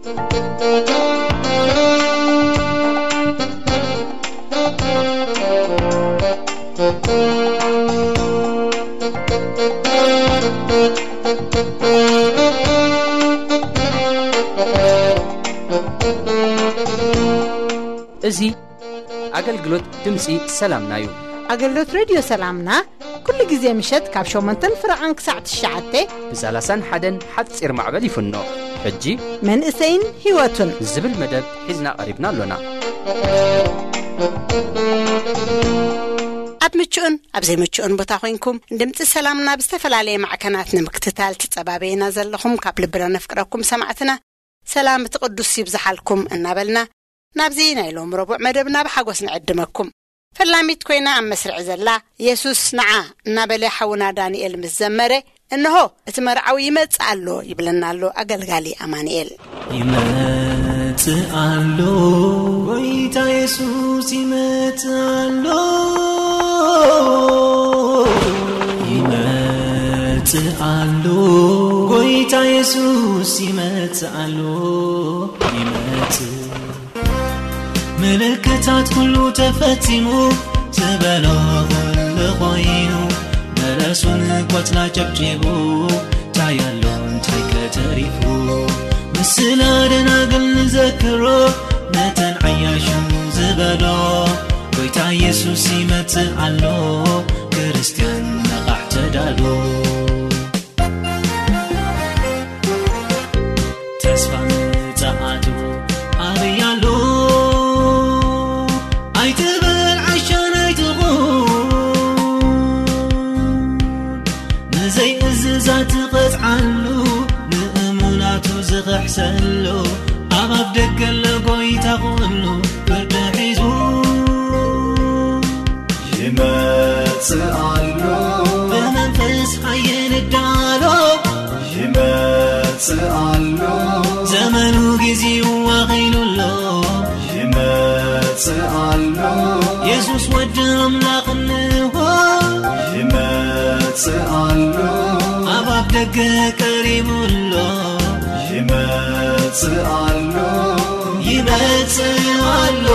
እዚ ኣገልግሎት ድምፂ ሰላምና እዩ። ኣገልግሎት ሬድዮ ሰላምና ኩሉ ግዜ ምሸት ካብ ሸሞንተን ፍረቓን ክሳዕ ትሽዓተ ብ ሰላሳን ሓደን ሓፂር ማዕበል ይፍኖ። ሕጂ መንእሰይን ህይወቱን ዝብል መደብ ሒዝና ቀሪብና ኣሎና። ኣብ ምቹእን ኣብ ዘይምቹእን ቦታ ኮይንኩም ድምፂ ሰላምና ብዝተፈላለየ ማዕከናት ንምክትታል ትጸባበዩና ዘለኹም ካብ ልብና ነፍቅረኩም ሰማዕትና ሰላም እቲ ቅዱስ ይብዝሓልኩም እናበልና ናብዚ ናይ ሎም ረቡዕ መደብና ብሓጎስ ንዕድመኩም። ፈላሚት ኮይና ኣብ መስርዕ ዘላ የሱስ ንዓ እናበለ ሓውና ዳንኤል ምስ ዘመረ እንሆ እቲ መርዓዊ ይመጽእ ኣሎ ይብለና ኣሎ ኣገልጋሊ ኣማንኤል። ይመጽእ ኣሎ ጎይታ የሱስ ይመጽእ ኣሎ። ይመጽእ ኣሎ ጎይታ የሱስ ይመጽእ ኣሎ። ይመጽእ ምልክታት ኩሉ ተፈጺሙ ዝበሎ ኩሉ ኮይኑ በለሱን ቆጽላ ጨብጪቡ ታያሎ እንታይ ከተሪፉ ምስላ ደናግል ንዘክሮ ነተን ዓያሹ ዝበሎ ጎይታ የሱስ ይመጽእ ኣሎ ክርስትያን ነቓሕ ተዳሎ። ተስፋ ምጽኣቱ ኣበይ ኣሎ? ኣይትበል ዓሻን ኣይትኹን። ንዘይእዝዛት ትቐጽዓሉ፣ ንእሙናቱ ዝኽሕሰሉ፣ ኣብ ኣፍ ደገ ኣሎ ጎይታ ኩሉ ፍርዲ ሒዙ። ይመጽእ ኣሎ። ብመንፈስ ሓየል ዳሎ። ይመጽእ ኣሎ። ዘመኑ ጊዜው ኣኺሉ ኣሎ። ይመጽእ ኣሎ። የሱስ ወዲ ኣምላኽ እንሆ። ይመጽእ ኣሎ። ኣብ ኣፍ ደገ ቀሪቡ ኣሎ። ይመጽእ ኣሎ። ይመጽእ ኣሎ።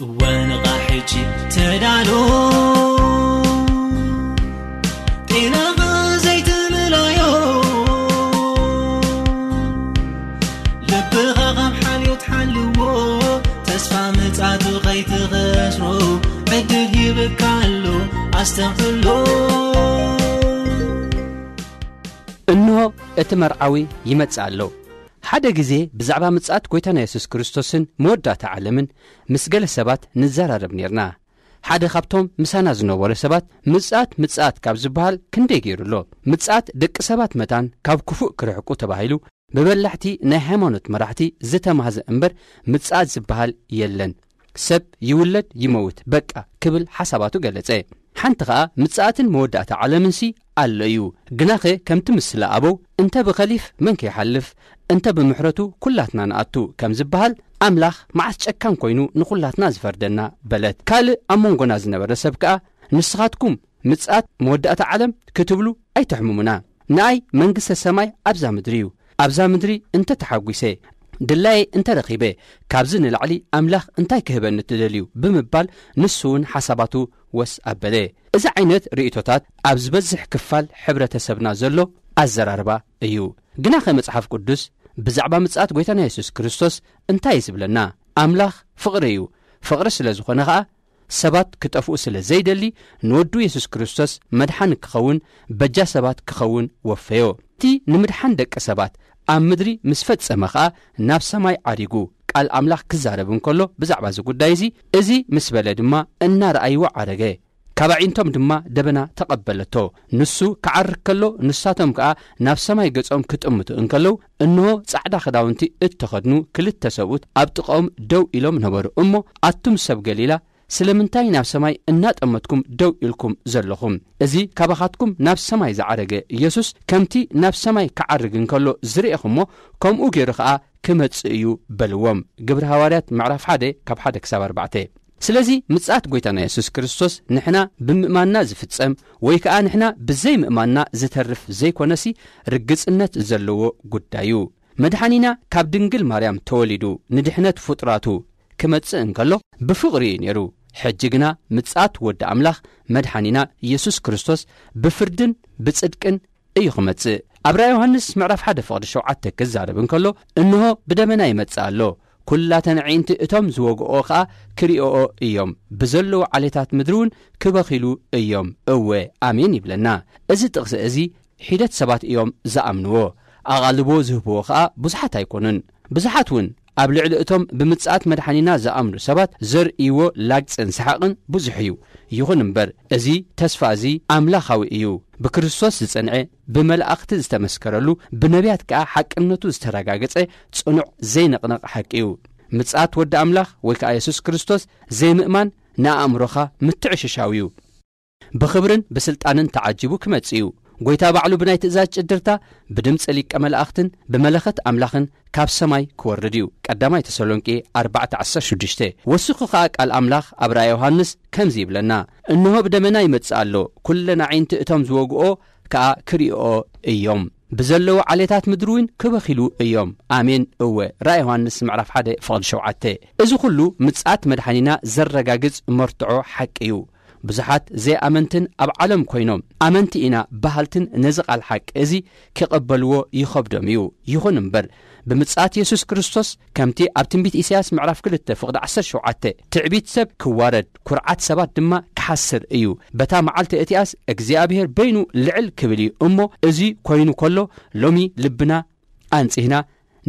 እወ ንቓሕ ሕጂ ተዳሎ፣ ጤናኻ ዘይትምለዮ፣ ልብኻ ካብ ሓልዮት ሓልዎ፣ ተስፋ ምጽኣቱ ከይትኸስሮ፣ ዕድል ሂብካ ኣሎ ኣስተውዕሎ። እንሆ እቲ መርዓዊ ይመጽእ ኣሎ። ሓደ ግዜ ብዛዕባ ምጽኣት ጐይታና የሱስ ክርስቶስን መወዳእታ ዓለምን ምስ ገለ ሰባት ንዘራረብ ኔርና። ሓደ ካብቶም ምሳና ዝነበሩ ሰባት ምጽኣት ምጽኣት ካብ ዝበሃል ክንደይ ገይሩ ኣሎ። ምጽኣት ደቂ ሰባት መታን ካብ ክፉእ ክርሕቁ ተባሂሉ ብበላሕቲ ናይ ሃይማኖት መራሕቲ ዝተማህዘ እምበር ምጽኣት ዝበሃል የለን። ሰብ ይውለድ ይመውት በቃ ክብል ሓሳባቱ ገለጸ። ሓንቲ ኸኣ ምጽኣትን መወዳእታ ዓለምንሲ ኣሎ እዩ። ግናኸ ከምቲ ምስላ ኣበው እንተ ብኸሊፍ መን ከይሓልፍ እንተ ብምሕረቱ ኩላትና ንኣቱ ከም ዝበሃል ኣምላኽ መዓስ ጨካን ኮይኑ ንኹላትና ዝፈርደና በለት። ካልእ ኣብ መንጎና ዝነበረ ሰብ ከኣ ንስኻትኩም ምጽኣት መወዳእታ ዓለም ክትብሉ ኣይተሕምሙና። ንኣይ መንግስተ ሰማይ ኣብዛ ምድሪ እዩ። ኣብዛ ምድሪ እንተ ተሓጒሰ ድላየ እንተ ረኺበ ካብዚ ንላዕሊ ኣምላኽ እንታይ ክህበኒ ትደልዩ ብምባል ንሱ እውን ሓሳባቱ ወስ ኣበለ። እዚ ዓይነት ርእይቶታት ኣብ ዝበዝሕ ክፋል ሕብረተሰብና ዘሎ ኣዘራርባ እዩ። ግናኸ መጽሓፍ ቅዱስ ብዛዕባ ምጽኣት ጐይታና የሱስ ክርስቶስ እንታይ እዩ ዝብለና? ኣምላኽ ፍቕሪ እዩ። ፍቕሪ ስለ ዝኾነ ኸኣ ሰባት ክጠፍኡ ስለ ዘይደሊ ንወዱ የሱስ ክርስቶስ መድሓኒ ክኸውን በጃ ሰባት ክኸውን ወፈዮ። እቲ ንምድሓን ደቂ ሰባት ኣብ ምድሪ ምስ ፈጸመ ኸኣ ናብ ሰማይ ዓሪጉ ቃል ኣምላኽ ክዛረብ እንከሎ ብዛዕባ እዚ ጉዳይ እዚ፣ እዚ ምስ በለ ድማ እናረኣይዎ ዓረገ። ካብ ኣዒንቶም ድማ ደበና ተቐበለቶ። ንሱ ክዓርግ ከሎ ንሳቶም ከኣ ናብ ሰማይ ገጾም ክጥምቱ እንከለዉ እንሆ ጻዕዳ ክዳውንቲ እተኸድኑ ክልተ ሰብኡት ኣብ ጥቓኦም ደው ኢሎም ነበሩ። እሞ ኣቱም ሰብ ገሊላ ስለምንታይ ናብ ሰማይ እናጠመትኩም ደው ኢልኩም ዘለኹም? እዚ ካባኻትኩም ናብ ሰማይ ዝዓረገ ኢየሱስ ከምቲ ናብ ሰማይ ክዓርግ እንከሎ ዝርኤኹሞ ከምኡ ገይሩ ኸኣ ክመጽእ እዩ በልዎም። ግብሪ ሃዋርያት ምዕራፍ ሓደ ካብ ሓደ ክሳብ ኣርባዕተ። ስለዚ ምጽኣት ጐይታና የሱስ ክርስቶስ ንሕና ብምእማንና ዝፍጸም ወይ ከኣ ንሕና ብዘይምእማንና ዝተርፍ ዘይኮነሲ ርግጽነት ዘለዎ ጉዳይ እዩ። መድሓኒና ካብ ድንግል ማርያም ተወሊዱ ንድሕነት ፍጡራቱ ክመጽእ እንከሎ ብፍቕሪ እዩ ነይሩ። ሕጂ ግና ምጽኣት ወዲ ኣምላኽ መድሓኒና የሱስ ክርስቶስ ብፍርድን ብጽድቅን እዩ ክመጽእ። ኣብ ራእይ ዮሃንስ ምዕራፍ ሓደ ፍቕዲ ሸውዓተ ክዛረብ እንከሎ፣ እንሆ ብደመና ይመጽእ ኣሎ፣ ኩላተን ኣዒንቲ እቶም ዝወግኦ ኸኣ ክሪኦኦ እዮም፣ ብዘለዉ ዓሌታት ምድሪ እውን ክበኺሉ እዮም። እወ ኣሜን ይብለና። እዚ ጥቕሲ እዚ ሒደት ሰባት እዮም ዝኣምንዎ፣ ኣቓልቦ ዝህብዎ ኸኣ ብዙሓት ኣይኮኑን። ብዙሓት እውን ኣብ ልዕሊ እቶም ብምጽኣት መድሓኒና ዝኣምኑ ሰባት ዘርእይዎ ላግጽን ሰሓቕን ብዙሕ እዩ። ይኹን እምበር እዚ ተስፋ እዚ ኣምላኻዊ እዩ። ብክርስቶስ ዝጸንዐ፣ ብመላእኽቲ ዝተመስከረሉ፣ ብነቢያት ከኣ ሓቅነቱ ዝተረጋገጸ ጽኑዕ ዘይንቕነቕ ሓቂ እዩ። ምጽኣት ወዲ ኣምላኽ ወይ ከኣ የሱስ ክርስቶስ ዘይምእማን ንኣእምሮኻ ምትዕሽሻው እዩ። ብኽብርን ብስልጣንን ተዓጂቡ ክመጽእ እዩ። ጐይታ ባዕሉ ብናይ ትእዛዝ ጭድርታ፣ ብድምጺ ሊቀ መላእኽትን ብመለኸት ኣምላኽን ካብ ሰማይ ክወርድ እዩ። ቀዳማይ ተሰሎንቄ ኣርባዕተ ዓሰርተ ሽዱሽተ። ወሲኹ ኸኣ ቃል ኣምላኽ ኣብ ራእይ ዮሃንስ ከምዚ ይብለና፣ እንሆ ብደመና ይመጽእ ኣሎ፣ ኩለን ኣዒንቲ እቶም ዝወግኦ ከኣ ክርእይኦ እዮም። ብዘለዉ ዓሌታት ምድሪ እውን ክበኺሉ እዮም። ኣሜን። እወ፣ ራእይ ዮሃንስ ምዕራፍ ሓደ ፍቕዲ ሸውዓተ። እዚ ኹሉ ምጽኣት መድሓኒና ዘረጋግጽ መርትዖ ሓቂ እዩ። ብዙሓት ዘይኣመንትን ኣብ ዓለም ኮይኖም ኣመንቲ ኢና በሃልትን ነዚ ቃል ሓቂ እዚ ክቐበልዎ ይኸብዶም እዩ። ይኹን እምበር ብምጽኣት የሱስ ክርስቶስ ከምቲ ኣብ ትንቢት ኢሳያስ ምዕራፍ ክልተ ፍቕዲ ዓሰርተ ሸውዓተ ትዕቢት ሰብ ክዋረድ፣ ኩርዓት ሰባት ድማ ክሓስር እዩ። በታ መዓልቲ እቲኣስ እግዚኣብሔር በይኑ ልዕል ክብል እዩ። እሞ እዚ ኮይኑ ከሎ ሎሚ ልብና ኣንጺህና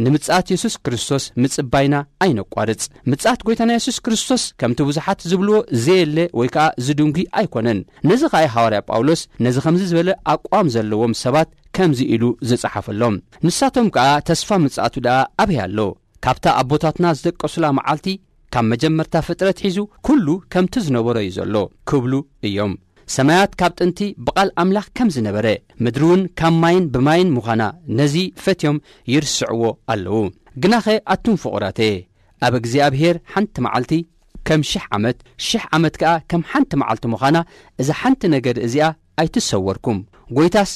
ንምጽኣት የሱስ ክርስቶስ ምጽባይና ኣይነቋርጽ። ምጽኣት ጐይታና የሱስ ክርስቶስ ከምቲ ብዙሓት ዝብልዎ ዘየለ ወይ ከኣ ዝድንጉይ ኣይኮነን። ነዚ ኸኣ ሃዋርያ ጳውሎስ ነዚ ከምዚ ዝበለ ኣቋም ዘለዎም ሰባት ከምዚ ኢሉ ዝጸሓፈሎም። ንሳቶም ከኣ ተስፋ ምጽኣቱ ደኣ ኣበይ ኣሎ? ካብታ ኣቦታትና ዝደቀሱላ መዓልቲ ካብ መጀመርታ ፍጥረት ሒዙ ኩሉ ከምቲ ዝነበሮ እዩ ዘሎ ክብሉ እዮም። ሰማያት ካብ ጥንቲ ብቓል ኣምላኽ ከም ዝነበረ፣ ምድሪ እውን ካብ ማይን ብማይን ምዃና ነዚ ፈትዮም ይርስዕዎ ኣለዉ። ግናኸ ኣቱም ፍቑራተየ፣ ኣብ እግዚኣብሔር ሓንቲ መዓልቲ ከም ሽሕ ዓመት፣ ሽሕ ዓመት ከኣ ከም ሓንቲ መዓልቲ ምዃና፣ እዛ ሓንቲ ነገር እዚኣ ኣይትሰወርኩም። ጐይታስ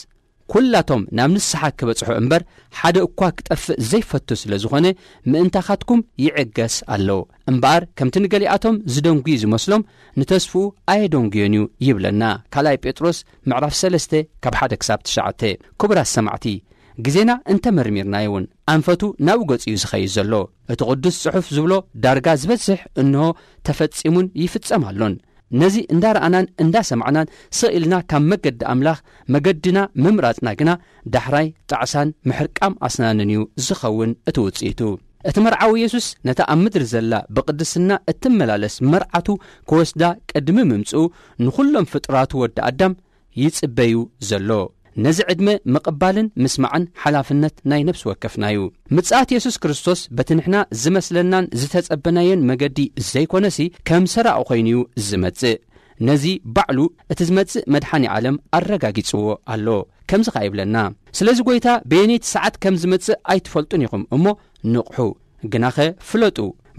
ኩላቶም ናብ ንስሓ ክበጽሑ እምበር፣ ሓደ እኳ ክጠፍእ ዘይፈቱ ስለ ዝኾነ፣ ምእንታኻትኩም ይዕገስ ኣሎ። እምበኣር፣ ከምቲ ንገሊኣቶም ዝደንጉዩ ዝመስሎም፣ ንተስፍኡ ኣየደንጉዮን እዩ ይብለና። ካልኣይ ጴጥሮስ ምዕራፍ ሰለስተ ካብ ሓደ ክሳብ ትሽዓተ። ክቡራት ሰማዕቲ፣ ግዜና እንተ መርሚርናዮ እውን፣ ኣንፈቱ ናብኡ ገጹ እዩ ዝኸይድ ዘሎ። እቲ ቅዱስ ጽሑፍ ዝብሎ ዳርጋ ዝበዝሕ እንሆ ተፈጺሙን ይፍጸም ኣሎን። ነዚ እንዳ ረኣናን እንዳ ሰማዕናን ስቕ ኢልና ካብ መገዲ ኣምላኽ መገድና ምምራጽና ግና ዳሕራይ ጣዕሳን ምሕርቃም ኣስናንን እዩ ዝኸውን እቲ ውጽኢቱ። እቲ መርዓዊ የሱስ ነታ ኣብ ምድሪ ዘላ ብቕድስና እትመላለስ መርዓቱ ክወስዳ ቅድሚ ምምጽኡ ንኹሎም ፍጥራቱ ወዲ ኣዳም ይጽበዩ ዘሎ። ነዚ ዕድመ ምቕባልን ምስማዕን ሓላፍነት ናይ ነፍሲ ወከፍና እዩ። ምጽኣት የሱስ ክርስቶስ በቲ ንሕና ዝመስለናን ዝተጸበናዮን መገዲ ዘይኮነሲ ከም ሰራቒ ኮይኑ እዩ ዝመጽእ። ነዚ ባዕሉ እቲ ዝመጽእ መድሓኒ ዓለም ኣረጋጊጽዎ ኣሎ። ከምዚ ኸኣ ይብለና፣ ስለዚ ጐይታ በየነይቲ ሰዓት ከም ዝመጽእ ኣይትፈልጡን ኢኹም እሞ ንቕሑ። ግናኸ ፍለጡ፣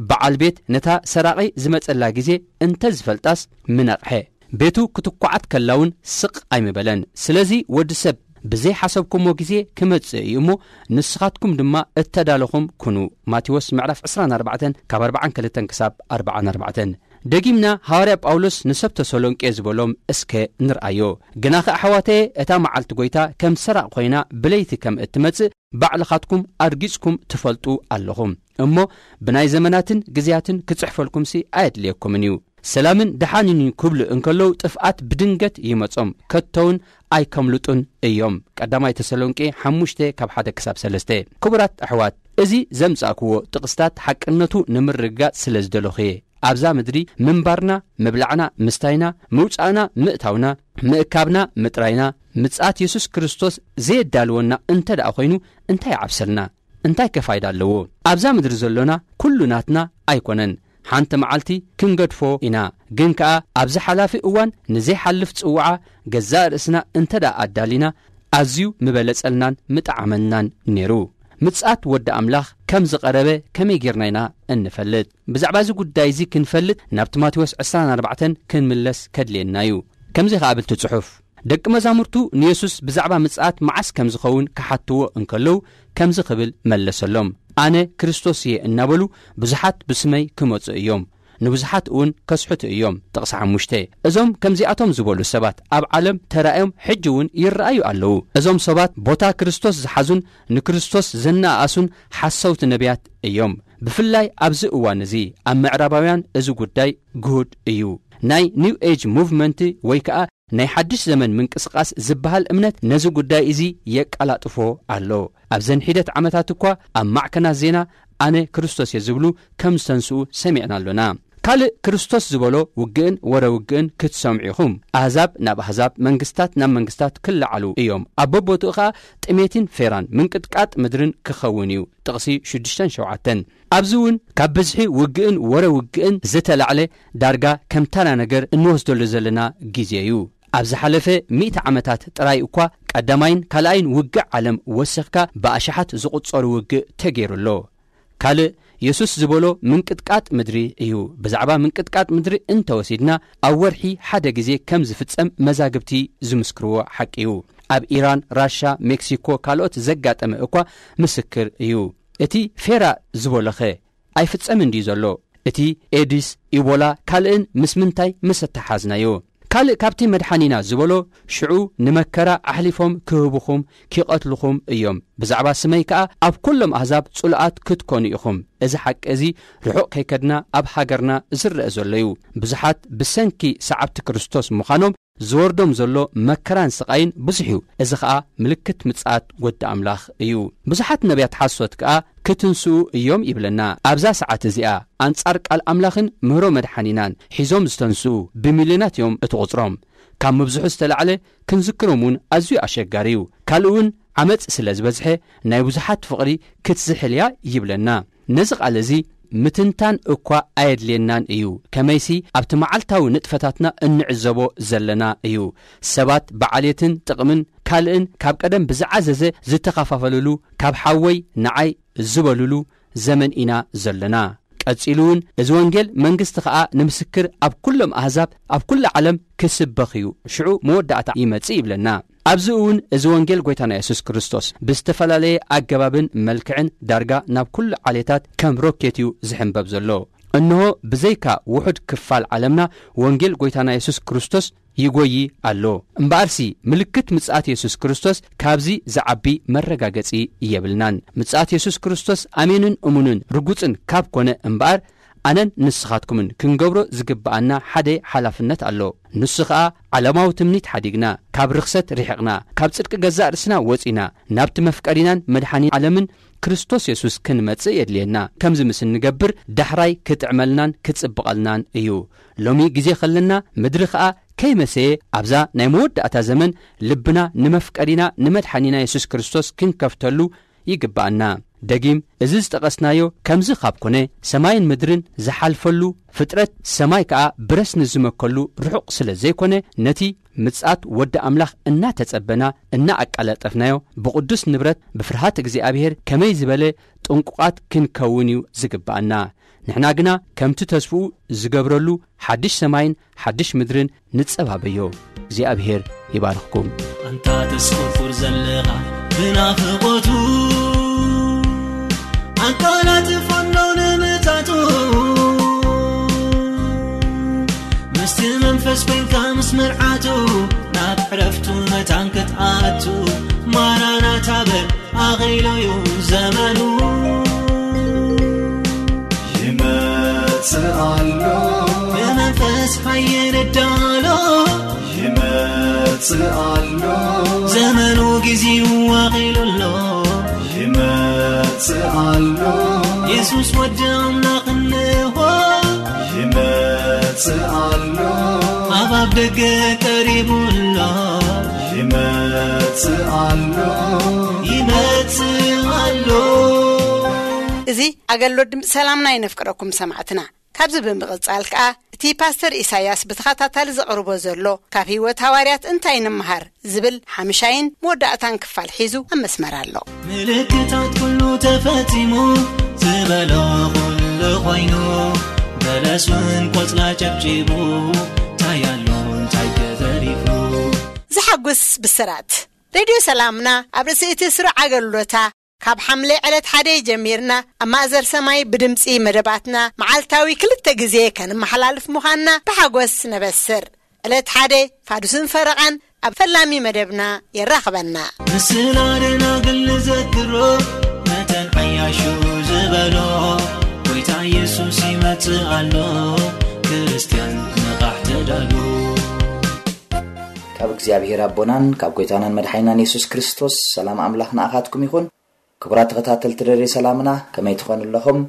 በዓል ቤት ነታ ሰራቒ ዝመጸላ ግዜ እንተ ዝፈልጣስ ምነቕሐ። ቤቱ ክትኳዓት ከላ እውን ስቕ ኣይምበለን። ስለዚ ወዲ ሰብ ብዘይሓሰብኩሞ ግዜ ክመጽእ እዩ እሞ፣ ንስኻትኩም ድማ እተዳለኹም ኩኑ። ማቴዎስ ምዕራፍ ዕስራን ኣርባዕተን ካብ ኣርባዓን ክልተን ክሳብ ኣርባዓን ኣርባዕተን። ደጊምና ሃዋርያ ጳውሎስ ንሰብ ተሰሎንቄ ዝበሎም እስከ ንርኣዮ። ግናኸ ኣሕዋተየ፣ እታ መዓልቲ ጐይታ ከም ሰራቕ ኾይና ብለይቲ ከም እትመጽእ ባዕልኻትኩም ኣርጊጽኩም ትፈልጡ ኣለኹም። እሞ ብናይ ዘመናትን ግዜያትን ክጽሕፈልኩምሲ ኣየድልየኩምን እዩ። ሰላምን ደሓንን እዩ ክብሉ እንከለዉ ጥፍኣት ብድንገት ይመጾም፣ ከቶውን ኣይከምልጡን እዮም። ቀዳማይ ተሰሎንቄ ሓሙሽተ ካብ ሓደ ክሳብ ሰለስተ። ክቡራት ኣሕዋት፣ እዚ ዘምጻእክዎ ጥቕስታት ሓቅነቱ ንምርግጋጽ ስለ ዝደለኹ እየ። ኣብዛ ምድሪ ምንባርና፣ ምብላዕና፣ ምስታይና፣ ምውጻእና፣ ምእታውና፣ ምእካብና፣ ምጥራይና፣ ምጽኣት የሱስ ክርስቶስ ዘየዳልወና እንተ ደኣ ኾይኑ እንታይ ይዓብሰልና? እንታይ ከ ፋይዳ ኣለዎ? ኣብዛ ምድሪ ዘሎና ኩሉ ናትና ኣይኮነን። ሓንቲ መዓልቲ ክንገድፎ ኢና። ግን ከኣ ኣብዚ ሓላፊ እዋን ንዘይሓልፍ ጽውዓ ገዛእ ርእስና እንተ ደኣ ኣዳሊና፣ ኣዝዩ ምበለጸልናን ምጠዓመልናን ነይሩ። ምጽኣት ወዲ ኣምላኽ ከም ዝቐረበ ከመይ ጌርና ኢና እንፈልጥ? ብዛዕባ እዚ ጉዳይ እዚ ክንፈልጥ ናብ ማቴዎስ ዕስራን ኣርባዕተን ክንምለስ ከድልየና እዩ። ከምዚ ከኣ ብል እቲ ጽሑፍ፣ ደቂ መዛሙርቱ ንየሱስ ብዛዕባ ምጽኣት መዓስ ከም ዝኸውን ክሓትዎ እንከለዉ፣ ከምዚ ክብል መለሰሎም፣ ኣነ ክርስቶስ እየ እናበሉ ብዙሓት ብስመይ ክመጹ እዮም፣ ንብዙሓት እውን ከስሕቱ እዮም። ጥቕሲ ሓሙሽተ። እዞም ከምዚኣቶም ዝበሉ ሰባት ኣብ ዓለም ተራእዮም ሕጂ እውን ይረኣዩ ኣለዉ። እዞም ሰባት ቦታ ክርስቶስ ዝሓዙን ንክርስቶስ ዘነኣኣሱን ሓሰውቲ ነቢያት እዮም። ብፍላይ ኣብዚ እዋን እዚ ኣብ ምዕራባውያን እዚ ጉዳይ ግሁድ እዩ። ናይ ኒው ኤጅ ሙቭመንት ወይ ከኣ ናይ ሓድሽ ዘመን ምንቅስቓስ ዝበሃል እምነት ነዚ ጉዳይ እዚ የቀላጥፎ ኣሎ። ኣብዘን ሒደት ዓመታት እኳ ኣብ ማዕከናት ዜና ኣነ ክርስቶስ እየ ዝብሉ ከም ዝተንስኡ ሰሚዕና ኣሎና። ካልእ ክርስቶስ ዝበሎ ውግእን ወረ ውግእን ክትሰምዑ ኢኹም። ኣህዛብ ናብ ኣህዛብ፣ መንግስታት ናብ መንግስታት ክለዓሉ እዮም። ኣብ በቦትኡ ኸኣ ጥሜትን ፌራን ምንቅጥቃጥ ምድርን ክኸውን እዩ። ጥቕሲ ሽዱሽተን ሸውዓተን። ኣብዚ እውን ካብ ብዝሒ ውግእን ወረ ውግእን ዝተላዕለ ዳርጋ ከም ተራ ነገር እንወስደሉ ዘለና ግዜ እዩ። ኣብ ዝሓለፈ ሚእቲ ዓመታት ጥራይ እኳ ቀዳማይን ካልኣይን ውግእ ዓለም ወሲኽካ ብኣሽሓት ዝቑጸሩ ውግእ ተገይሩ ኣሎ። ካልእ የሱስ ዝበሎ ምንቅጥቃጥ ምድሪ እዩ። ብዛዕባ ምንቅጥቃጥ ምድሪ እንተወሲድና ኣብ ወርሒ ሓደ ግዜ ከም ዝፍጸም መዛግብቲ ዝምስክርዎ ሓቂ እዩ። ኣብ ኢራን፣ ራሻ፣ ሜክሲኮ ካልኦት ዘጋጠመ እኳ ምስክር እዩ። እቲ ፌራ ዝበሎኸ ኣይፍጸምን ድዩ ዘሎ? እቲ ኤድስ፣ ኢቦላ ካልእን ምስ ምንታይ ምስ ኣተሓዝናዮ? ካልእ ካብቲ መድሓኒና ዝበሎ ሽዑ ንመከራ ኣሕሊፎም ክህቡኹም ኪቐትልኹም እዮም። ብዛዕባ ስመይ ከኣ ኣብ ኩሎም ኣህዛብ ጽሉኣት ክትኮኑ ኢኹም። እዚ ሓቂ እዚ ርሑቕ ከይከድና ኣብ ሃገርና ዝረአ ዘሎ እዩ። ብዙሓት ብሰንኪ ሰዓብቲ ክርስቶስ ምዃኖም ዝወርዶም ዘሎ መከራን ስቓይን ብዙሕ እዩ። እዚ ኸኣ ምልክት ምጽኣት ወዲ ኣምላኽ እዩ። ብዙሓት ነቢያት ሓሶት ከኣ ክትንስኡ እዮም ይብለና። ኣብዛ ሰዓት እዚኣ ኣንጻር ቃል ኣምላኽን ምህሮ መድሓኒናን ሒዞም ዝተንስኡ ብሚልዮናት እዮም እቲ ቁጽሮም። ካብ ምብዝሑ ዝተላዕለ ክንዝክሮም እውን ኣዝዩ ኣሸጋሪ እዩ። ካልእ እውን ዓመጽ ስለ ዝበዝሐ ናይ ብዙሓት ፍቕሪ ክትዝሕል እያ ይብለና። ነዚ ቃል እዚ ምትንታን እኳ ኣየድልየናን እዩ። ከመይሲ ኣብቲ መዓልታዊ ንጥፈታትና እንዕዘቦ ዘለና እዩ። ሰባት ብዓሌትን ጥቕምን ካልእን ካብ ቀደም ብዝዓዘዘ ዝተኸፋፈልሉ፣ ካብ ሓወይ ንዓይ ዝበልሉ ዘመን ኢና ዘለና። ቀጺሉ እውን እዚ ወንጌል መንግስቲ ኸኣ ንምስክር ኣብ ኩሎም ኣህዛብ ኣብ ኩሉ ዓለም ክስበኽ እዩ፣ ሽዑ መወዳእታ ይመጽእ ይብለና። ኣብዚ እውን እዚ ወንጌል ጐይታና የሱስ ክርስቶስ ብዝተፈላለየ ኣገባብን መልክዕን ዳርጋ ናብ ኩሉ ዓሌታት ከም ሮኬት እዩ ዝሕንበብ ዘሎ። እንሆ ብዘይካ ውሑድ ክፋል ዓለምና ወንጌል ጐይታና የሱስ ክርስቶስ ይጎዪ ኣሎ። እምበኣርሲ ምልክት ምጽኣት የሱስ ክርስቶስ ካብዚ ዝዓቢ መረጋገጺ የብልናን። ምጽኣት የሱስ ክርስቶስ ኣሜንን እሙንን ርጉጽን ካብ ኮነ እምበኣር ኣነን ንስኻትኩምን ክንገብሮ ዝግብኣና ሓደ ሓላፍነት ኣሎ። ንሱ ኸኣ ዓለማዊ ትምኒት ሓዲግና፣ ካብ ርኽሰት ርሒቕና፣ ካብ ጽድቂ ገዛእ ርእስና ወጺና፣ ናብቲ መፍቀሪናን መድሓኒ ዓለምን ክርስቶስ የሱስ ክንመጽእ የድልየና። ከምዚ ምስ እንገብር ዳሕራይ ክጥዕመልናን ክጽብቐልናን እዩ። ሎሚ ግዜ ኸለና ምድሪ ኸኣ ከይመሰየ ኣብዛ ናይ መወዳእታ ዘመን ልብና ንመፍቀሪና ንመድሓኒና የሱስ ክርስቶስ ክንከፍተሉ ይግብኣና። ደጊም እዚ ዝጠቐስናዮ ከምዚ ካብ ኮነ ሰማይን ምድርን ዝሓልፈሉ ፍጥረት ሰማይ ከኣ ብረስኒ ዝመከሉ ርሑቕ ስለ ዘይኮነ ነቲ ምጽኣት ወዲ ኣምላኽ እናተጸበና እናኣቃላጠፍናዮ ብቕዱስ ንብረት ብፍርሃት እግዚኣብሔር ከመይ ዝበለ ጥንቁቓት ክንከውን እዩ ዝግብኣና። ንሕና ግና ከምቲ ተስፍኡ ዝገብረሉ ሓድሽ ሰማይን ሓድሽ ምድርን ንጸባበዮ። እግዚኣብሔር ይባርኽኩም። ኣንታ ተስቁርቁር ዘለኻ ብናፍቖቱ ኣቃላጥፈኖ ንምጻቱ ምስቲ መንፈስ ኮንካ ምስ መርዓቱ ናብ ዕረፍቱ መታን ክትኣቱ ማራናታ በል ኣኺሉዩ ዘመኑ ይመጽእ ኣሎ ብመንፈስ ሓየን እዳሎ ይመጽእ ኣሎ ዘመኑ ጊዜው ኣኺሉ ኣሎ ይመጽእ ኣሎ የሱስ ወዲ ኣምላኽ እንሆ ይመጽእ ኣሎ ኣብ ኣፍ ደገ ቀሪቡ ኣሎ ይመጽእ ኣሎ ይመጽእ ኣሎ እዚ ኣገልግሎት ድምፂ ሰላምና የነፍቅረኩም ሰማዕትና ኣብዚ ብምቕጻል ከኣ እቲ ፓስተር ኢሳያስ ብተኸታታሊ ዘቕርቦ ዘሎ ካብ ህይወት ሃዋርያት እንታይ ንምሃር ዝብል ሓምሻይን መወዳእታን ክፋል ሒዙ ኣብ መስመር ኣሎ። ምልክታት ኩሉ ተፈጺሙ ዝበሎ ኩሉ ኮይኑ፣ በለስ እውን ቆጽላ ጨብጪቡ፣ እንታይ ኣሎ እንታይ ተዘሪፉ። ዝሓጉስ ብስራት። ሬድዮ ሰላምና ኣብ ርእሲ እቲ ስሩዕ ኣገልግሎታ ካብ ሓምለ ዕለት ሓደ ጀሚርና ኣብ ማእዘር ሰማይ ብድምጺ መደባትና መዓልታዊ ክልተ ግዜ ከንመሓላልፍ ምዃንና ብሓጎስ ነበስር። ዕለት ሓደ ፋዱስን ፈረቓን ኣብ ፈላሚ መደብና የራኽበና። ምስላ ደናግል ንዘክሮ፣ መተን ዓያሹ ዝበሎ፣ ጎይታ ኢየሱስ ይመጽእ ኣሎ፣ ክርስትያን ንቓሕ ተዳሉ። ካብ እግዚኣብሔር ኣቦናን ካብ ጎይታናን መድሓኒናን የሱስ ክርስቶስ ሰላም ኣምላኽ ንኣኻትኩም ይኹን። ክቡራት ተኸታተልቲ ደሬ ሰላምና፣ ከመይ ትኾኑ ኣለኹም?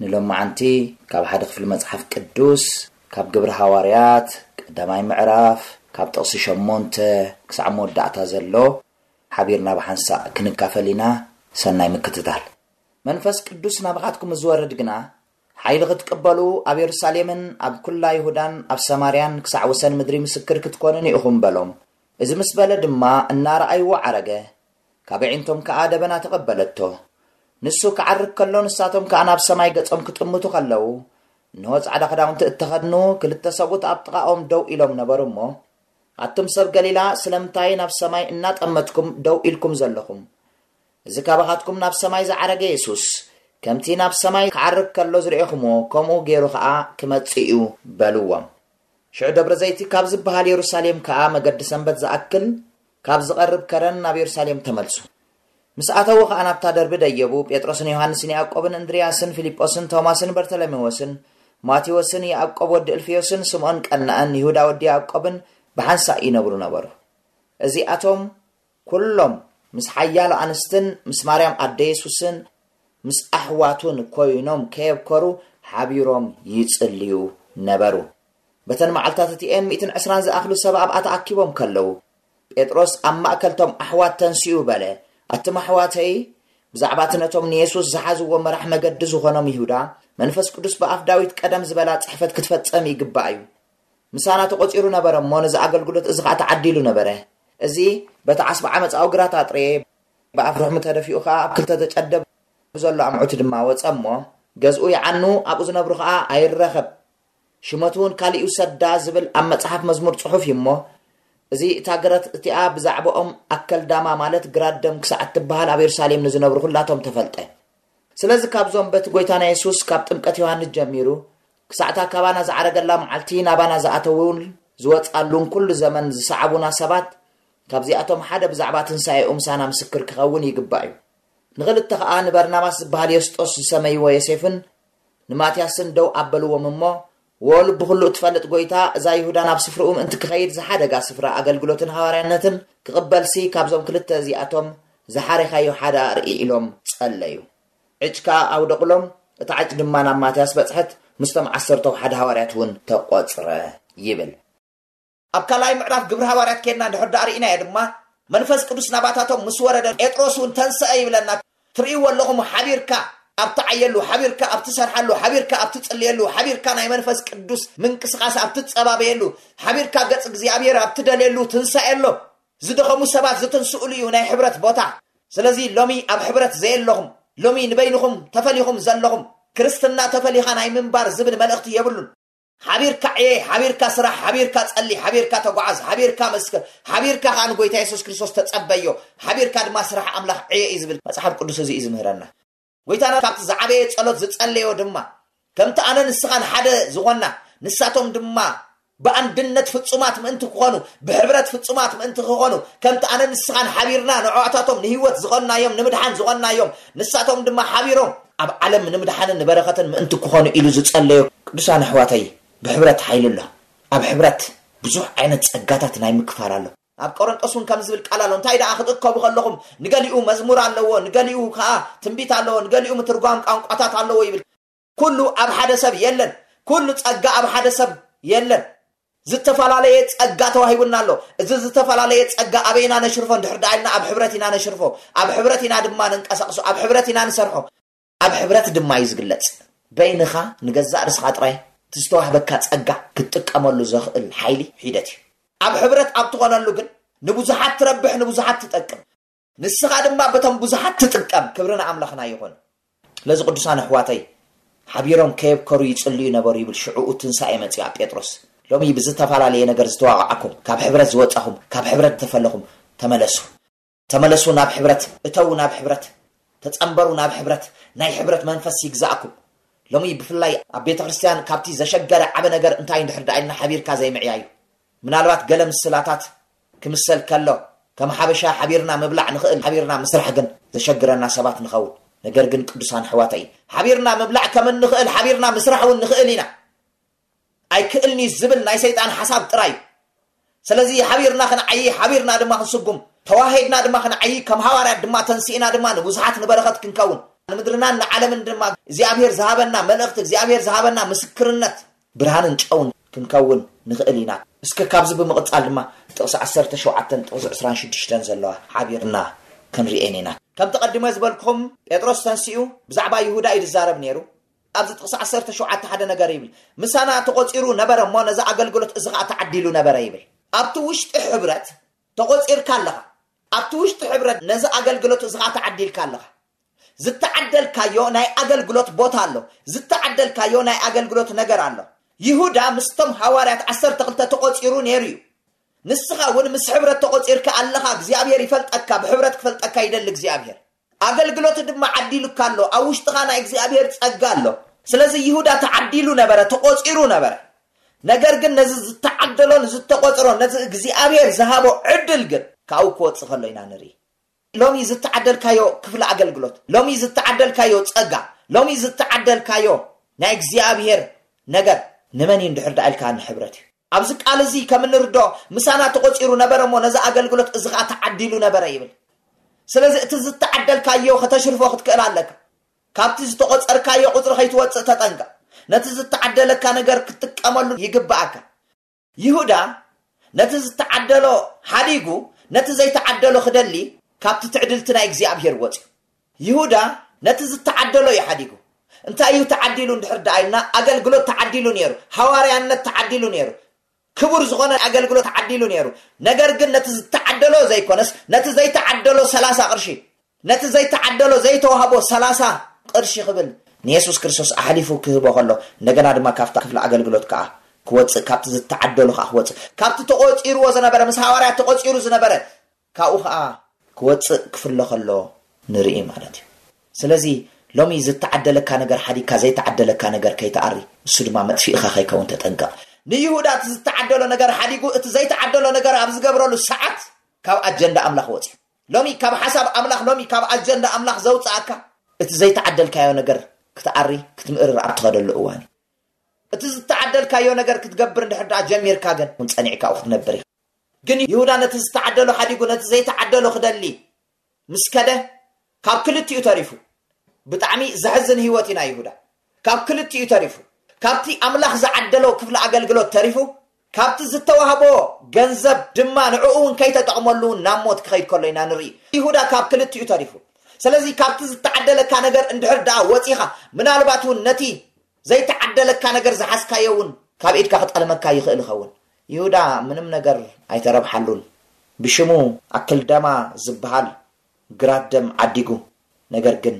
ንሎማዓንቲ ካብ ሓደ ክፍሊ መጽሓፍ ቅዱስ፣ ካብ ግብሪ ሃዋርያት ቀዳማይ ምዕራፍ፣ ካብ ጥቕሲ ሸሞንተ ክሳዕ መወዳእታ ዘሎ ሓቢርና ብሓንሳእ ክንካፈል ኢና። ሰናይ ምክትታል። መንፈስ ቅዱስ ናባኻትኩም ዝወርድ ግና፣ ሓይሊ ክትቅበሉ ኣብ የሩሳሌምን ኣብ ኩላ ይሁዳን ኣብ ሰማርያን ክሳዕ ወሰን ምድሪ ምስክር ክትኮኑኒ ኢኹም በሎም። እዚ ምስ በለ ድማ እናረኣይዎ ዓረገ። ካብ ኣዒንቶም ከኣ ደበና ተቐበለቶ። ንሱ ክዓርግ ከሎ ንሳቶም ከኣ ናብ ሰማይ ገጾም ክጥምቱ ከለዉ፣ እንሆ ጻዕዳ ክዳውንቲ እተኸድኑ ክልተ ሰብኡት ኣብ ጥቓኦም ደው ኢሎም ነበሩ እሞ፣ ኣቱም ሰብ ገሊላ፣ ስለምንታይ ናብ ሰማይ እናጠመትኩም ደው ኢልኩም ዘለኹም? እዚ ካባኻትኩም ናብ ሰማይ ዝዓረገ የሱስ፣ ከምቲ ናብ ሰማይ ክዓርግ ከሎ ዝረኤኹምዎ፣ ከምኡ ገይሩ ኸኣ ክመጽእ እዩ በልዎም። ሽዑ ደብረ ዘይቲ ካብ ዝበሃል የሩሳሌም ከኣ መገዲ ሰንበት ዝኣክል ካብ ዝቐርብ ከረን ናብ የሩሳሌም ተመልሱ። ምስ ኣተዉ ኸኣ ናብታ ደርቢ ደየቡ። ጴጥሮስን ዮሃንስን ያዕቆብን እንድርያስን ፊልጶስን ቶማስን በርተሎሜዎስን ማቴዎስን ያዕቆብ ወዲ እልፍዮስን ስምዖን ቀናእን ይሁዳ ወዲ ያዕቆብን ብሓንሳእ ይነብሩ ነበሩ። እዚኣቶም ኩሎም ምስ ሓያሎ ኣንስትን ምስ ማርያም ኣደ የሱስን ምስ ኣሕዋቱን ኮይኖም ከየብከሩ ሓቢሮም ይጽልዩ ነበሩ። በተን መዓልታት እቲኤን ሚእትን ዕስራን ዝኣኽሉ ሰብ ኣብኣ ተኣኪቦም ከለዉ፣ ጴጥሮስ ኣብ ማእከልቶም ኣሕዋት ተንሲኡ በለ፣ ኣቱም ኣሕዋተይ፣ ብዛዕባ እቲ ነቶም ንየሱስ ዝሓዝዎ መራሕ መገዲ ዝኾኖም ይሁዳ፣ መንፈስ ቅዱስ ብኣፍ ዳዊት ቀደም ዝበላ ጽሕፈት ክትፈጸም ይግባእ እዩ። ምሳና ተቖጺሩ ነበረ እሞ፣ ነዚ ኣገልግሎት እዚ ኸኣ ተዓዲሉ ነበረ። እዚ በቲ ዓስቢ ዓመጻኡ ግራት ኣጥረየ፣ ብኣፍ ርሕሙ ተደፊኡ ኸኣ ኣብ ክልተ ተጨደ፣ ብዘሎ ኣምዑት ድማ ወጸ እሞ፣ ገዝኡ ይዓኑ፣ ኣብኡ ዝነብሩ ኸኣ ኣይረኸብ። ሽመቱ እውን ካልእ ይውሰዳ ዝብል ኣብ መጽሓፍ መዝሙር ጽሑፍ እዩ እሞ፣ እዚ እታ ግራት እቲኣ ብዛዕባኦም ኣከልዳማ ማለት ግራት ደም ክሳዕ እትበሃል ኣብ የሩሳሌም ንዝነብሩ ኹላቶም ተፈልጠ። ስለዚ ካብዞም በቲ ጐይታና የሱስ ካብ ጥምቀት ዮሃንስ ጀሚሩ ክሳዕታ ካባና ዝዓረገላ መዓልቲ ናባና ዝኣተዉን ዝወጻሉን ኩሉ ዘመን ዝሰዓቡና ሰባት ካብዚኣቶም ሓደ ብዛዕባ ትንሳኤኡ ምሳና ምስክር ክኸውን ይግባእ እዩ። ንኽልተ ኸኣ ንበርናባስ ዝበሃል ዮስጦስ ዝሰመይዎ ዮሴፍን ንማትያስን ደው ኣበልዎም እሞ፣ ወ ልቢ ኹሉ እትፈልጥ ጐይታ፣ እዛ ይሁዳ ናብ ስፍርኡ ምእንቲ ክኸይድ ዝሓደጋ ስፍራ ኣገልግሎትን ሃዋርያነትን ክቕበልሲ ካብዞም ክልተ እዚኣቶም ዝሓሬኻዮ ሓደ ኣርኢ ኢሎም ጸለዩ። ዕጭ ከኣ ኣውደቑሎም፣ እታ ዕጭ ድማ ናብ ማትያስ በጽሐት፣ ምስቶም ዓሰርተው ሓደ ሃዋርያት እውን ተቖጽረ ይብል። ኣብ ካልኣይ ምዕራፍ ግብሪ ሃዋርያት ኬድና እንድሕር ደኣ ርኢናዮ ድማ፣ መንፈስ ቅዱስ ናባታቶም ምስ ወረደ፣ ጴጥሮስ እውን ተንስአ ይብለና። ትርእይዎ ኣለኹም፣ ሓቢርካ ኣብ ትዓየሉ፣ ሓቢርካ ኣብ ትሰርሓሉ፣ ሓቢርካ ኣብ ትጽልየሉ፣ ሓቢርካ ናይ መንፈስ ቅዱስ ምንቅስቓስ ኣብ ትጸባበየሉ፣ ሓቢርካ ገጽ እግዚኣብሔር ኣብ ትደልየሉ ትንሳኤ ኣሎ። ዝደኸሙ ሰባት ዝትንስኡሉ እዩ ናይ ሕብረት ቦታ። ስለዚ ሎሚ ኣብ ሕብረት ዘየለኹም፣ ሎሚ ንበይንኹም ተፈሊኹም ዘለኹም፣ ክርስትና ተፈሊኻ ናይ ምንባር ዝብል መልእኽቲ የብሉን። ሓቢርካ ዕየ፣ ሓቢርካ ስራሕ፣ ሓቢርካ ጸሊ፣ ሓቢርካ ተጓዓዝ፣ ሓቢርካ መስክር፣ ሓቢርካ ከኣ ንጎይታ የሱስ ክርስቶስ ተጸበዮ፣ ሓቢርካ ድማ ስራሕ ኣምላኽ ዕየ እዩ ዝብል መጽሓፍ ቅዱስ። እዚ እዩ ዝምህረና። ጎይታና ካብቲ ዝዓበየ ጸሎት ዝጸለዮ ድማ፣ ከምቲ ኣነ ንስኻን ሓደ ዝኾንና፣ ንሳቶም ድማ ብኣንድነት ፍጹማት ምእንቲ ክኾኑ፣ ብሕብረት ፍጹማት ምእንቲ ክኾኑ፣ ከምቲ ኣነ ንስኻን ሓቢርና ንዕዋታቶም ንህይወት ዝኾንናዮም፣ ንምድሓን ዝኾንናዮም፣ ንሳቶም ድማ ሓቢሮም ኣብ ዓለም ንምድሓንን ንበረኸትን ምእንቲ ክኾኑ ኢሉ ዝጸለዮ ቅዱሳን ኣሕዋተይ፣ ብሕብረት ሓይሊ ኣሎ። ኣብ ሕብረት ብዙሕ ዓይነት ጸጋታት ናይ ምክፋል ኣሎ። ኣብ ቆሮንጦስ እውን ከም ዝብል ቃል ኣሎ። እንታይ ደኣ ክትእከቡ ከለኹም፣ ንገሊኡ መዝሙር ኣለዎ፣ ንገሊኡ ከኣ ትንቢት ኣለዎ፣ ንገሊኡ ምትርጓም ቋንቋታት ኣለዎ ይብል። ኩሉ ኣብ ሓደ ሰብ የለን። ኩሉ ጸጋ ኣብ ሓደ ሰብ የለን። ዝተፈላለየ ጸጋ ተዋሂቡና ኣሎ። እዚ ዝተፈላለየ ጸጋ ኣበይ ኢና ነሽርፎ እንድሕር ደኣ ኢልና፣ ኣብ ሕብረት ኢና ነሽርፎ። ኣብ ሕብረት ኢና ድማ ንንቀሳቕሶ። ኣብ ሕብረት ኢና ንሰርሖ። ኣብ ሕብረት ድማ እዩ ዝግለጽ። በይንኻ ንገዛእ ርስኻ ጥራይ እቲ ዝተዋህበካ ጸጋ ክትጥቀመሉ ዘኽእል ሓይሊ ሒደት እዩ። ኣብ ሕብረት ኣብ ትኾነሉ ግን ንብዙሓት ትረብሕ፣ ንብዙሓት ትጠቅም። ንስኻ ድማ በቶም ብዙሓት ትጥቀም። ክብሪ ንኣምላኽና ይኹን። ስለዚ ቅዱሳን ኣሕዋተይ፣ ሓቢሮም ከየብከሩ ይጽልዩ ነበሩ ይብል ሽዑኡ ትንሳኤ መጺኡ ኣብ ጴጥሮስ። ሎሚ ብዝተፈላለየ ነገር ዝተዋቕዓኩም፣ ካብ ሕብረት ዝወጻኹም፣ ካብ ሕብረት ዝተፈለኹም፣ ተመለሱ። ተመለሱ ናብ ሕብረት፣ እተዉ ናብ ሕብረት፣ ተጸንበሩ ናብ ሕብረት፣ ናይ ሕብረት መንፈስ ይግዛእኩም። ሎሚ ብፍላይ ኣብ ቤተ ክርስቲያን ካብቲ ዘሸገረ ዓበ ነገር እንታይ እንድሕር ደኣ ኢልና ሓቢርካ ዘይምዕያዩ። ምናልባት ገለ ምስላታት ክምሰል ከሎ፣ ከም ሓበሻ ሓቢርና ምብላዕ ንኽእል፣ ሓቢርና ምስራሕ ግን ዘሸግረና ሰባት ንኸውን። ነገር ግን ቅዱሳን ኣሕዋተይ፣ ሓቢርና ምብላዕ ከም እንኽእል፣ ሓቢርና ምስራሕ እውን ንኽእል ኢና። ኣይክእልን'ዩ ዝብል ናይ ሰይጣን ሓሳብ ጥራይ እዩ። ስለዚ ሓቢርና ክንዓዪ፣ ሓቢርና ድማ ክንስጉም፣ ተዋሂድና ድማ ክንዓዪ፣ ከም ሃዋርያት ድማ ተንሲእና ድማ ንብዙሓት ንበረኸት ክንከውን፣ ንምድርናን ንዓለምን ድማ እግዚኣብሔር ዝሃበና መልእኽቲ፣ እግዚኣብሔር ዝሃበና ምስክርነት ብርሃንን ጨውን ክንከውን ንኽእል ኢና። እስከ ካብዚ ብምቕጻል ድማ ጥቕሲ ዓሰርተ ሸውዓተን ጥቕሲ ዕስራን ሽዱሽተን ዘለዋ ሓቢርና ክንርእየን ኢና። ከምቲ ቀዲመ ዝበልኩኹም ጴጥሮስ ተንሲኡ ብዛዕባ ይሁዳ እዩ ዝዛረብ ነይሩ። ኣብዚ ጥቕሲ ዓሰርተ ሸውዓተ ሓደ ነገር ይብል፣ ምሳና ተቖጺሩ ነበረ እሞ ነዚ ኣገልግሎት እዚ ኸኣ ተዓዲሉ ነበረ ይብል። ኣብቲ ውሽጢ ሕብረት ተቖጺርካ ኣለኻ። ኣብቲ ውሽጢ ሕብረት ነዚ ኣገልግሎት እዚ ኸኣ ተዓዲልካ ኣለኻ። ዝተዓደልካዮ ናይ ኣገልግሎት ቦታ ኣሎ። ዝተዓደልካዮ ናይ ኣገልግሎት ነገር ኣሎ። ይሁዳ ምስቶም ሃዋርያት ዓሰርተ ክልተ ተቖጺሩ ነይሩ እዩ። ንስኻ እውን ምስ ሕብረት ተቖጺርካ ኣለኻ። እግዚኣብሔር ይፈልጠካ፣ ብሕብረት ክፈልጠካ ይደሊ እግዚኣብሔር። ኣገልግሎት ድማ ዓዲሉካ ኣሎ። ኣብ ውሽጥኻ ናይ እግዚኣብሔር ጸጋ ኣሎ። ስለዚ ይሁዳ ተዓዲሉ ነበረ፣ ተቖጺሩ ነበረ። ነገር ግን ነዚ ዝተዓደሎ፣ ንዝተቖጽሮ፣ ነዚ እግዚኣብሔር ዝሃቦ ዕድል ግን ካብኡ ክወጽእ ከሎ ኢና ንርኢ። ሎሚ ዝተዓደልካዮ ክፍሊ ኣገልግሎት፣ ሎሚ ዝተዓደልካዮ ጸጋ፣ ሎሚ ዝተዓደልካዮ ናይ እግዚኣብሔር ነገር ንመን እዩ እንድሕር ደኣ ኢልካ ንሕብረት እዩ። ኣብዚ ቃል እዚ ከም እንርድኦ ምሳና ተቖጺሩ ነበረ እሞ ነዚ ኣገልግሎት እዚ ኸኣ ተዓዲሉ ነበረ ይብል። ስለዚ እቲ ዝተዓደልካዮ ከተሽርፎ ክትክእል ኣለካ። ካብቲ ዝተቖጸርካዮ ቁጽሪ ከይትወጽእ ተጠንቀቕ። ነቲ ዝተዓደለካ ነገር ክትጥቀመሉ ይግብኣካ። ይሁዳ ነቲ ዝተዓደሎ ሓዲጉ ነቲ ዘይተዓደሎ ክደሊ ካብቲ ትዕድልቲ ናይ እግዚኣብሔር ወጽዩ። ይሁዳ ነቲ ዝተዓደሎ እዩ ሓዲጉ። እንታይ እዩ ተዓዲሉ እንድሕር ደኣ ኢልና፣ ኣገልግሎት ተዓዲሉ ነይሩ፣ ሃዋርያነት ተዓዲሉ ነይሩ፣ ክቡር ዝኾነ ኣገልግሎት ተዓዲሉ ነይሩ። ነገር ግን ነቲ ዝተዓደሎ ዘይኮነስ ነቲ ዘይተዓደሎ ሰላሳ ቅርሺ፣ ነቲ ዘይተዓደሎ ዘይተዋህቦ ሰላሳ ቅርሺ ክብል ንየሱስ ክርስቶስ ኣሕሊፉ ክህቦ ከሎ፣ እንደገና ድማ ካብታ ክፍሊ ኣገልግሎት ከኣ ክወጽእ፣ ካብቲ ዝተዓደሎ ከኣ ክወጽእ፣ ካብቲ ተቖጺርዎ ዝነበረ፣ ምስ ሃዋርያት ተቖጺሩ ዝነበረ ካብኡ ከኣ ክወጽእ ክፍሎ ከሎ ንርኢ ማለት እዩ። ስለዚ ሎሚ ዝተዓደለካ ነገር ሓዲግካ ዘይተዓደለካ ነገር ከይትኣሪ፣ እሱ ድማ መጥፊእኻ ከይከውን ተጠንቀቕ። ንይሁዳ እቲ ዝተዓደሎ ነገር ሓዲጉ እቲ ዘይተዓደሎ ነገር ኣብ ዝገብረሉ ሰዓት ካብ ኣጀንዳ ኣምላኽ ወጺኡ። ሎሚ ካብ ሓሳብ ኣምላኽ፣ ሎሚ ካብ ኣጀንዳ ኣምላኽ ዘውጽኣካ እቲ ዘይተዓደልካዮ ነገር ክትኣሪ ክትምእርር ኣብ ትኸደሉ እዋን እዩ። እቲ ዝተዓደልካዮ ነገር ክትገብር እንድሕር ደኣ ጀሚርካ ግን እውን ጸኒዕካ ኣብኡ ክትነብር ኢኻ። ግን ይሁዳ ነቲ ዝተዓደሎ ሓዲጉ ነቲ ዘይተዓደሎ ክደሊ ምስ ከደ ካብ ክልቲኡ ተሪፉ። ብጣዕሚ ዘሕዝን ህይወት እዩ ናይ ይሁዳ። ካብ ክልቲኡ ተሪፉ። ካብቲ ኣምላኽ ዝዓደሎ ክፍሊ ኣገልግሎት ተሪፉ፣ ካብቲ ዝተዋህቦ ገንዘብ ድማ ንዕኡ እውን ከይተጠቕመሉ እውን ናብ ሞት ክኸይድ ከሎ ኢና ንርኢ። ይሁዳ ካብ ክልቲኡ ተሪፉ። ስለዚ ካብቲ ዝተዓደለካ ነገር እንድሕር ደኣ ወጺኻ፣ ምናልባት እውን ነቲ ዘይተዓደለካ ነገር ዝሓዝካዮ እውን ካብ ኢድካ ክጠልመካ ይኽእል ይኸውን። ይሁዳ ምንም ነገር ኣይተረብሓሉን። ብሽሙ ኣክልዳማ ዝበሃል ግራት ደም ዓዲጉ፣ ነገር ግን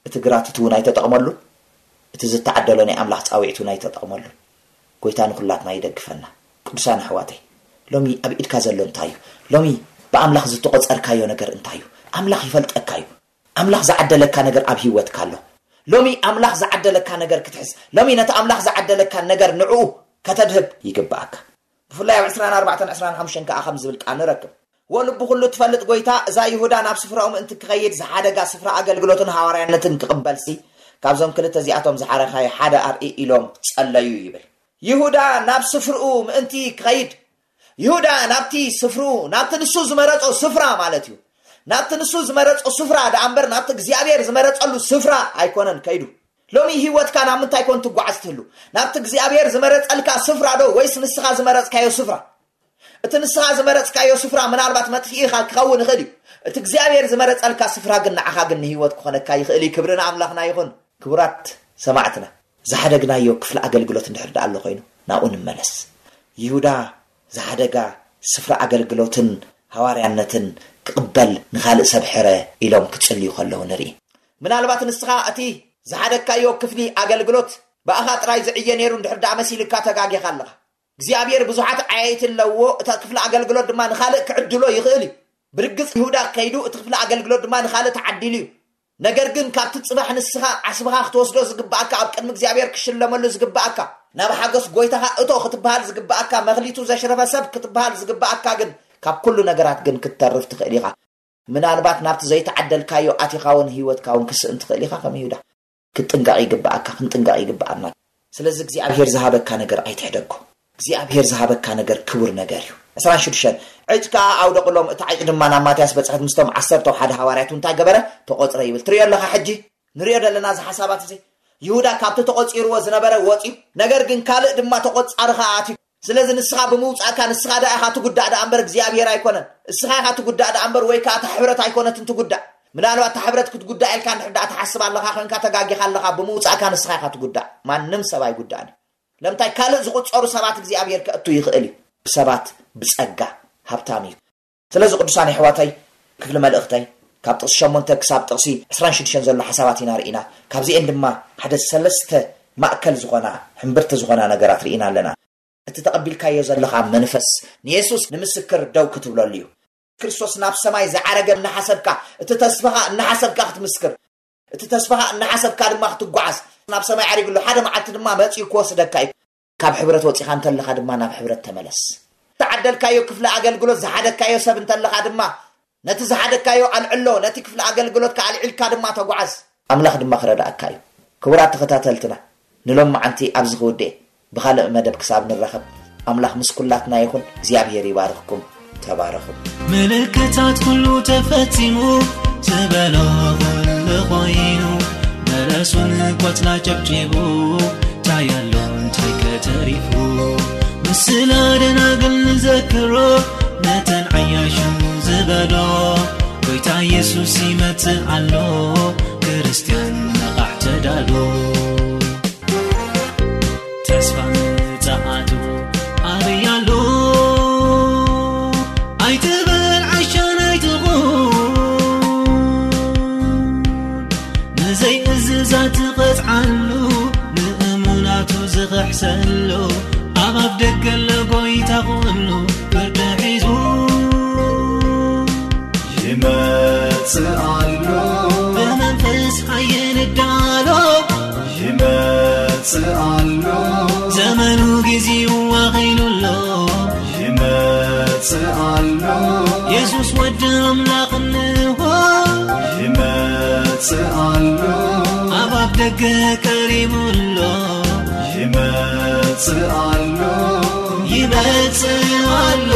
እቲ ግራት እቲ እውን ኣይተጠቕመሉን፣ እቲ ዝተዓደሎ ናይ ኣምላኽ ጻውዒት እውን ኣይተጠቕመሉን። ጎይታ ንኹላትና ይደግፈና። ቅዱሳን ኣሕዋተይ፣ ሎሚ ኣብ ኢድካ ዘሎ እንታይ እዩ? ሎሚ ብኣምላኽ ዝተቖጸርካዮ ነገር እንታይ እዩ? ኣምላኽ ይፈልጠካ እዩ። ኣምላኽ ዝዓደለካ ነገር ኣብ ህይወትካ ኣሎ። ሎሚ ኣምላኽ ዝዓደለካ ነገር ክትሕዝ፣ ሎሚ ነቲ ኣምላኽ ዝዓደለካ ነገር ንዕኡ ከተድህብ ይግብኣካ። ብፍላይ ኣብ ዕስራን ኣርባዕተን ዕስራን ሓሙሽተን ከኣ ከም ዝብል ቃል ንረክብ። ወልቡ ኩሉ ትፈልጥ ጎይታ፣ እዛ ይሁዳ ናብ ስፍራኡ ምእንቲ ክኸይድ ዝሓደጋ ስፍራ ኣገልግሎትን ሃዋርያነትን ክቕበልሲ፣ ካብዞም ክልተ እዚኣቶም ዝሓረኻዮ ሓደ ኣርኢ ኢሎም ጸለዩ ይብል። ይሁዳ ናብ ስፍርኡ ምእንቲ ክኸይድ፣ ይሁዳ ናብቲ ስፍርኡ፣ ናብቲ ንሱ ዝመረጾ ስፍራ ማለት እዩ። ናብቲ ንሱ ዝመረጾ ስፍራ ደኣ እምበር ናብቲ እግዚኣብሔር ዝመረጸሉ ስፍራ ኣይኮነን ከይዱ። ሎሚ ህይወትካ ናብ ምንታይ ኮን ትጓዓዝ ትህሉ? ናብቲ እግዚኣብሔር ዝመረጸልካ ስፍራ ዶ ወይስ ንስኻ ዝመረጽካዮ ስፍራ? እቲ ንስኻ ዝመረጽካዮ ስፍራ ምናልባት መጥፊኢኻ ክኸውን ይኽእል እዩ። እቲ እግዚኣብሔር ዝመረጸልካ ስፍራ ግን ንዓኻ ግን ንህይወት ክኾነካ ይኽእል እዩ። ክብሪ ንኣምላኽና ይኹን። ክቡራት ሰማዕትና፣ ዝሓደግናዮ ክፍሊ ኣገልግሎት እንድሕር ደኣ ኣሎ ኮይኑ፣ ናብኡ ንመለስ። ይሁዳ ዝሓደጋ ስፍራ ኣገልግሎትን ሃዋርያነትን ክቕበል ንኻልእ ሰብ ሕረ ኢሎም ክጽልዩ ከለዉ ንርኢ። ምናልባት ንስኻ እቲ ዝሓደግካዮ ክፍሊ ኣገልግሎት ብኣኻ ጥራይ ዝዕየ ነይሩ እንድሕር ደኣ መሲልካ ተጋጊኻ ኣለኻ። እግዚኣብሔር ብዙሓት ዓያይቲ ኣለዎ፣ እታ ክፍሊ ኣገልግሎት ድማ ንኻልእ ክዕድሎ ይኽእል እዩ። ብርግጽ ይሁዳ ከይዱ እቲ ክፍሊ ኣገልግሎት ድማ ንኻልእ ተዓዲሉ እዩ። ነገር ግን ካብቲ ጽባሕ ንስኻ ዓስብኻ ክትወስዶ ዝግብኣካ፣ ኣብ ቅድሚ እግዚኣብሔር ክሽለመሉ ዝግብኣካ፣ ናብ ሓጎስ ጎይታኻ እቶ ክትበሃል ዝግብኣካ፣ መኽሊቱ ዘሽረፈ ሰብ ክትበሃል ዝግብኣካ ግን ካብ ኩሉ ነገራት ግን ክትተርፍ ትኽእል ኢኻ። ምናልባት ናብቲ ዘይተዓደልካዮ ኣቲኻ እውን ህይወትካ እውን ክስእን ትኽእል ኢኻ ከም ይሁዳ። ክትጥንቀቕ ይግብኣካ፣ ክንጥንቀቕ ይግብኣና። ስለዚ እግዚኣብሔር ዝሃበካ ነገር ኣይትሕደጎ። እግዚኣብሔር ዝሃበካ ነገር ክቡር ነገር እዩ። ዕስራን ሽዱሽተን፣ ዕጭ ከኣ ኣውደቕሎም፣ እቲ ዓጭ ድማ ናብ ማትያስ በጽሐት፣ ምስቶም ዓሰርተው ሓደ ሃዋርያት እንታይ ገበረ? ተቖጽረ ይብል። ትርእዮ ኣለኻ ሕጂ? ንርእዮ ዘለና እዚ ሓሳባት እዚ። ይሁዳ ካብቲ ተቖጺርዎ ዝነበረ ወጺኡ፣ ነገር ግን ካልእ ድማ ተቖጻሪ ከኣ ኣትዩ። ስለዚ ንስኻ ብምውጻእካ ንስኻ ደኣ ኢኻ ትጉዳእ ደኣ እምበር እግዚኣብሔር ኣይኮነን። እስኻ ኢኻ ትጉዳእ ደኣ እምበር ወይ ከኣ እታ ሕብረት ኣይኮነትን ትጉዳእ። ምናልባት እታ ሕብረት ክትጉዳእ ኢልካ እንድሕር ደኣ ትሓስብ ኣለኻ ኮይንካ ተጋጊኻ ኣለኻ። ብምውጻእካ ንስኻ ኢኻ ትጉዳእ። ማንም ሰብ ኣይጉዳእን እዩ። ለምታይ ካልእ ዝቑጸሩ ሰባት እግዚኣብሔር ከእቱ ይኽእል እዩ። ብሰባት ብጸጋ ሃብታም እዩ። ስለዚ ቅዱሳን ኣሕዋተይ፣ ክፍሊ መልእኽተይ ካብ ጥቕሲ ሸሞንተ ክሳብ ጥቕሲ ዕስራን ሽዱሽተን ዘሎ ሓሳባት ኢና ርኢና። ካብዚኤን ድማ ሓደ ሰለስተ ማእከል ዝኾና፣ ሕምብርቲ ዝኾና ነገራት ርኢና ኣለና። እቲ ተቐቢልካዮ ዘለኻ መንፈስ ንየሱስ ንምስክር ደው ክትብለሉ እዩ። ክርስቶስ ናብ ሰማይ ዝዓረገ እናሓሰብካ፣ እቲ ተስፋኻ እናሓሰብካ ክትምስክር፣ እቲ ተስፋኻ እናሓሰብካ ድማ ክትጓዓዝ፣ ናብ ሰማይ ዓሪጉ ኣሎ፣ ሓደ መዓልቲ ድማ መጺኡ ክወስደካ እዩ። ካብ ሕብረት ወጺኻ እንተለኻ ድማ ናብ ሕብረት ተመለስ። ዝተዓደልካዮ ክፍሊ ኣገልግሎት ዝሓደግካዮ ሰብ እንተለኻ ድማ ነቲ ዝሓደግካዮ ኣልዕሎ፣ ነቲ ክፍሊ ኣገልግሎትካ ኣልዒልካ ድማ ተጓዓዝ። ኣምላኽ ድማ ክረዳእካ እዩ። ክቡራት ተኸታተልትና፣ ንሎም መዓንቲ ኣብዚ ክውድእ። ብኻልእ መደብ ክሳብ ንራኸብ፣ ኣምላኽ ምስ ኩላትና ይኹን። እግዚኣብሔር ይባርኽኩም። ተባረኹ። ምልክታት ኩሉ ተፈጺሙ ዝበሎ ኩሉ ኮይኑ፣ በለሱን ቆጽላ ጨብጪቡ፣ እንታይ ኣሎ እንታይ ከተሪፉ? ምስላ ደናግል ንዘክሮ፣ ነተን ዓያሹ ዝበሎ፣ ጎይታ የሱስ ይመጽእ ኣሎ፣ ክርስትያን ነቓሕ ተዳሎ። ተስፋ ምጽኣቱ ኣበይ ኣሎ? ኣይትበል ዓሻን ኣይትኹን፣ ንዘይእዝዛት ትቐጽዓሉ፣ ንእሙናቱ ዝኽሕሰሉ፣ ኣብ ኣፍ ደገ ኣሎ ጎይታ ኩሉ ፍርዲ ሒዙ። ይመጽእ ኣሎ። ብመንፈስ ሓየል እዳሎ። ይመጽእ ኣሎ። ዘመኑ ጊዜኡ ኣኺሉ ኣሎ። ይመጽእ ኣሎ። የሱስ ወዲ ኣምላኽ እንሆ። ይመጽእ ኣሎ። ኣብ ኣፍ ደገ ቀሪቡ ኣሎ። ይመጽእ ኣሎ። ይመጽእ ኣሎ።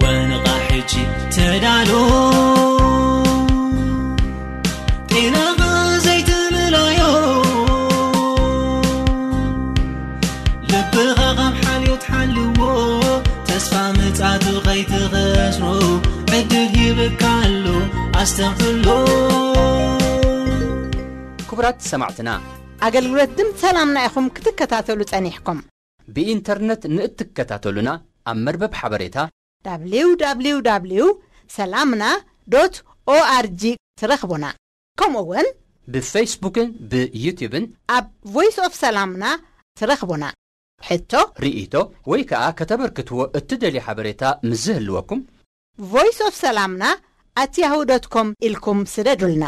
ወንቓ ሕጂ ተዳሎ። ጤናኻ ዘይትምለዮ። ልብኻ ካብ ሓልዮት ሓልዎ። ተስፋ ምጽኣቱ ከይትኸስሮ። ዕድል ሂብካ ኣሎ ኣስተውዕሎ። ክቡራት ሰማዕትና፣ ኣገልግሎት ድምፂ ሰላምና ኢኹም ክትከታተሉ ጸኒሕኩም። ብኢንተርነት ንእትከታተሉና ኣብ መርበብ ሓበሬታ www ሰላምና ዶት ኦኣርጂ ትረኽቡና። ከምኡ እውን ብፌስቡክን ብዩትዩብን ኣብ ቮይስ ኦፍ ሰላምና ትረኽቡና። ሕቶ፣ ርኢቶ ወይ ከኣ ከተበርክትዎ እትደልዩ ሓበሬታ ምስ ዝህልወኩም፣ ቮይስ ኦፍ ሰላምና ኣት ያሁ ዶት ኮም ኢልኩም ስደዱልና።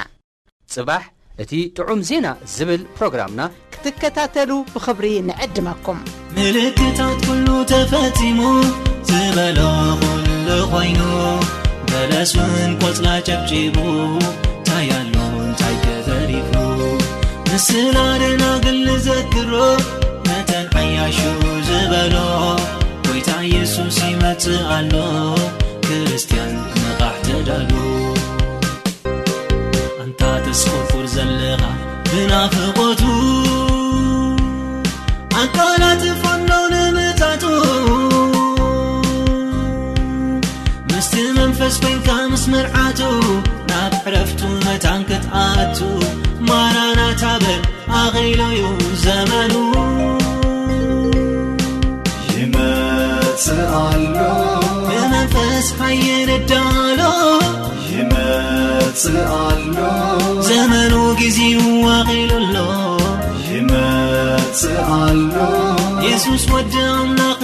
ጽባሕ እቲ ጥዑም ዜና ዝብል ፕሮግራምና ክትከታተሉ ብኽብሪ ንዕድመኩም። ምልክታት ኩሉ ተፈጺሙ ዝበሎ ኩሉ ኮይኑ፣ በለስን ቆጽላ ጨብጪቡ፣ እንታይ ኣሎ እንታይ ተተሪፉ? ምስላ ደናግል ንዘክሮ፣ መተን ዓያሹ ዝበሎ፣ ጎይታ የሱስ ይመጽእ ኣሎ፣ ክርስትያን ንቓሕ ተዳሉ። ኣንታ ተስቆርቁር ዘለኻ ብናፍቖቱ፣ ኣቃላጥፎ ኣሎ ንምጻቱ። ምስቲ መንፈስ ኮይንካ ምስ መርዓቱ፣ ኢሉ እዩ ዘመኑ። ይመጽእ ኣሎ። ብመንፈስ ሓየን እዳሎ። ይመጽእ ኣሎ። ዘመኑ ጊዜው ዋቒሉ ኣሎ። ይመጽእ ኣሎ። የሱስ ወዲ ኣምላኽ